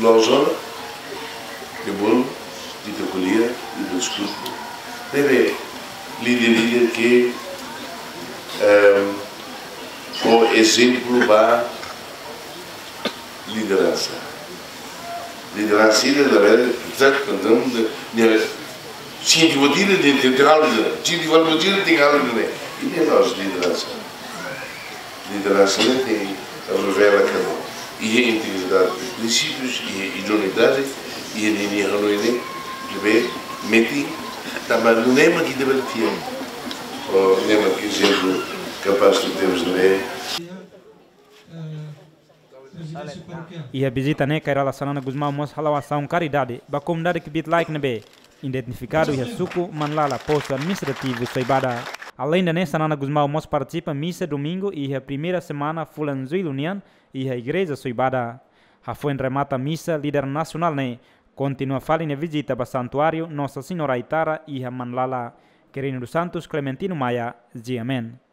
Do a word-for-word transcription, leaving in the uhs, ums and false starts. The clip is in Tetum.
loos ona, de bom, ita ko'alia, ita diskute. Ne'ebé líder, líder ke, ehm, fó ezemplu ba lideransa. Lideransa ida labele, portantu, entaun, de, de, sente vontade de, de, de algo, de, sente vontade de algo, né? E de nós, lideransa. Lideransa ne'e tenke revela katak iha integridade de prinsípius, iha idoneidade, iha ninia hanoin ne'ebé metin, tanba nune'e mak ita bele fiar. Ó, nune'e mak ezemplu kapás ke temos, né? Iha vizita ne'e, Kay Rala Xanana Gusmão mós hala'o asaun karidade ba komunidade kbiit-laek ne'ebé identifikadu iha suku Manlala, postu administrativu Soibada. Aleinde ne'e, Xanana Gusmão mós partisipa misa domingu iha primeira semana fulan Jullu nian iha igreja Soibada. Hafoin remata misa, líder nasionál ne'e kontinua fali nia vizita ba santuáriu Nossa Senhora Aitara iha Manlala. Quirino dos Santos, Clementino Maia, G M N.